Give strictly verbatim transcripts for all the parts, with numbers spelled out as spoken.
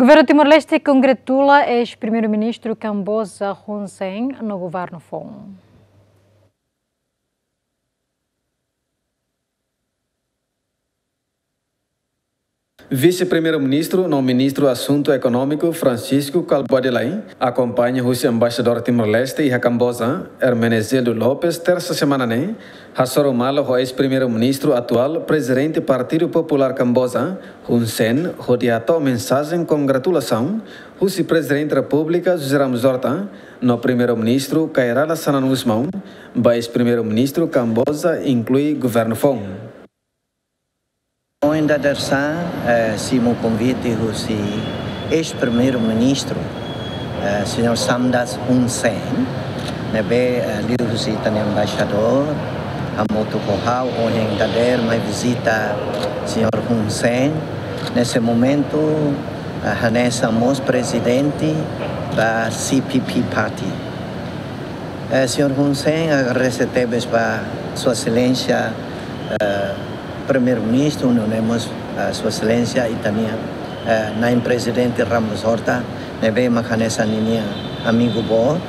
Governu Timor-Leste kongratula eis-primeiru-ministru Kamboja Hun Sen no governu foun. Vise-Primeiru-Ministru no Ministru Asuntu Ekonómiku Francisco Kalbuadi Lay, akompaña husi Embaixadór Timor-Leste iha Kamboja, Hermenegildo Lopes, tersa semana ne'e, hasoru malu ho eis-Primeiru-Ministru atuál, Prezidente Partidu Populár Kamboja, Hun Sen, hodi hato'o mensajen kongratulasaun husi Prezidente Repúblika José Ramos Horta no Primeiru-Ministru Kay Rala Xanana Gusmão ba eis-Primeiru-Ministru Kamboja, inklui governu foun. Ohin dadeer-saan, eh, simu konvite husi eis-Primeiru-Ministru, eh, señór Samdech Hun Sen, ne'ebé, eh, liuhusi ita-nia embaixadór hamutuk ho ha'u ohin dadeer mai vizita señór Hun Sen. Neste momentu, eh, hanesan mós prezidente ba C P P Party. Eh, señór Hun Sen, agradese tebes ba Sua Exelénsia, eh, Primeiru-Ministru, nune'e mós, eh, Sua Exelénsia ita-nia, eh, Na'in Prezidente Ramos Horta, ne'ebé mak hanesan ninia amigu boot.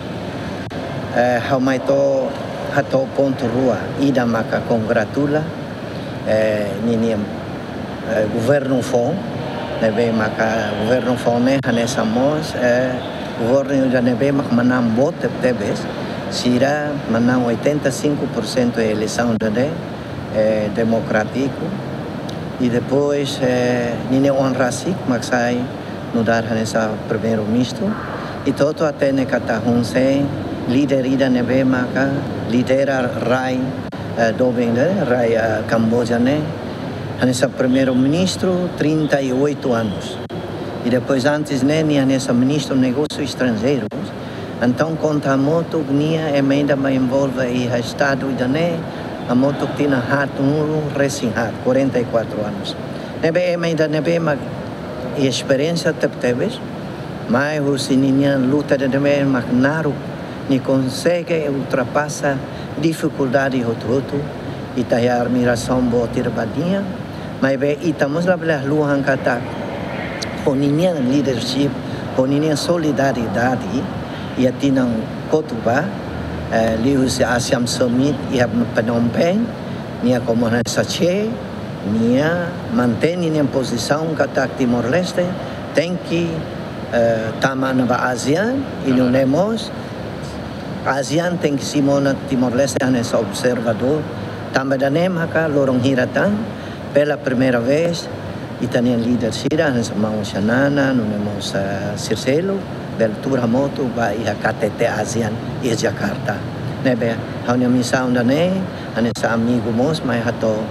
Eh, ha'u mai to'o hato'o pontu rua, ida maka kongratula, eh, ninia, eh, governu foun, ne'ebé maka governu foun ne'e hanesan mós, eh, governu ida ne'ebé mak manán boot tebetebes, sira manán oitenta e cinco por cento eleisaun ida-ne'e, eh, demokrátiku. I depois, eh, ninia oan rasik mak sai nu'udar hanesan Primeiru-Ministru. I hotu-hotu hatene katak Hun Sen líder ida ne'ebé maka lidera rai, eh, doben ne'e, rai, eh, Kamboja ne'e. Hanesan Primeiru-Ministru trinta e oito anos. I depois antes ne'e, nia hanesan Ministru Negósius Estranjeirus. Entaun, konta hamutuk nia ema ida mak envolve iha Estadu ida-ne'e, hamutuk tinan haatnulu-resin-haat, quarenta e quatro anos. Ne'ebé ema ida ne'ebé mak iha esperiénsia tebetebes, mai husi ninia luta ida ne'ebé mak naruk, nia konsege ultrapasa difikuldade hotu-hotu, ita iha admirasaun boot ida ba nia, maibé ita mós labele haluha katak, ho ninia leadership, ho ninia solidariedade, iha tinan kotuk ba, eh, liuhusi ASEAN Summit iha Phnom Penh, nia komu hanesan Che, nia mantein ninia pozisaun katak Timor-Leste tenke, eh, tama ona ba ASEAN, i nune'e mós ASEAN tenke simu ona Timor-Leste hanesan observadór. Tanba ida-ne'e maka loron hira tan, pela primeira vez, ita-nia líder sira, hanesan maun Xanana, nune'e mós, eh, Sir Seluk, bele tuur hamutuk ba iha K T T ASEAN iha Jakarta. Ne'ebé, ha'u-nia misaun ida-ne'e, hanesan amigu mós, mai hato'o,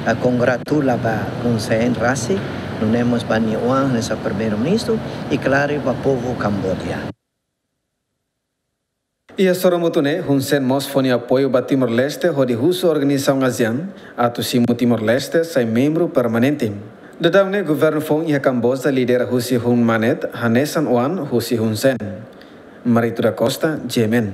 eh, kongratula ba Hun Sen rasik, nune'e mós ba nia oan hanesan Primeiru-Ministru, i klaru ba povu Kamboja. Iha soru hamutuk ne'e, Hun Sen mós fó nia apoiu ba Timor-Leste hodi husu organizasaun ASEAN atu simu Timor-Leste sai membru permanente. Daudaun ne'e governu foun iha Kamboja lidera husi Hun Manet, hanesan oan husi Hun Sen. Marito da Costa, G M N.